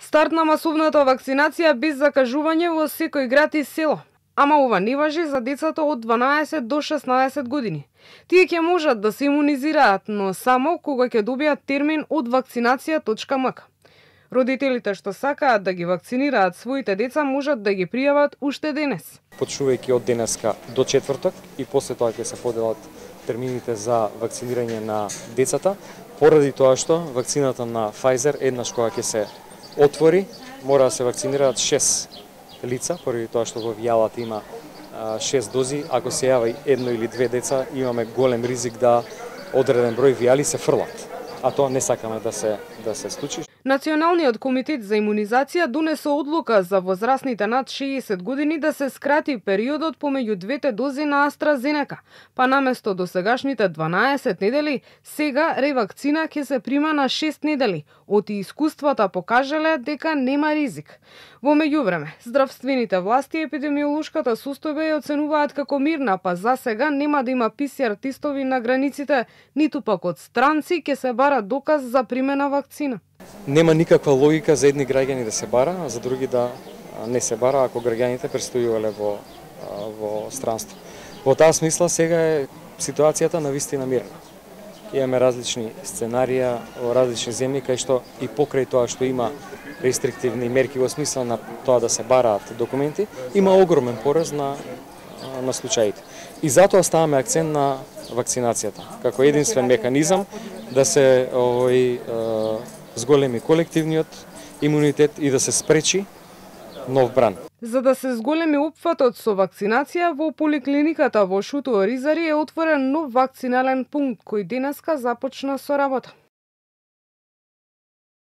Старт на масовната вакцинација без закажување во секој град и село. Ама ова не важи за децата од 12 до 16 години. Тие ќе можат да се имунизираат, но само кога ќе добијат термин од вакцинација.мк. Родителите што сакаат да ги вакцинираат своите деца можат да ги пријават уште денес. Почнувајќи од денеска до четврток и после тоа ќе се поделат термините за вакцинирање на децата, поради тоа што вакцината на Pfizer еднаш кога ќе се отвори, мора да се вакцинираат 6 лица, поради тоа што во вијалата има 6 дози. Ако се јави едно или две деца, имаме голем ризик да одреден број вијали се фрлат. А тоа не сакаме да се случи. Националниот комитет за имунизација донесе одлука за возрастните над 60 години да се скрати периодот помеѓу двете дози на AstraZeneca, па наместо досегашните 12 недели, сега ревакцина ќе се прима на 6 недели. Оти искуствата покажале дека нема ризик. Во меѓувреме, здравствените власти епидемиолошката состојба ја оценуваат како мирна, па за сега нема да има PCR тестови на границите, ниту пак од странци ќе се бара доказ за примена вакцина. Нема никаква логика за едни граѓани да се бара, а за други да не се бара ако граѓаните престојувале во странство. Во таа смисла сега е ситуацијата навистина мирна. Имаме различни сценарија во различни земји кај што и покрај тоа што има рестриктивни мерки во смисла на тоа да се бараат документи, има огромен пораст на случаите. И затоа ставаме акцент на вакцинацијата како единствен механизам да се зголеми колективниот имунитет и да се спречи нов бран. За да се зголеми опфатот со вакцинација, во поликлиниката во Шуто Оризари е отворен нов вакцинален пункт кој денеска започна со работа.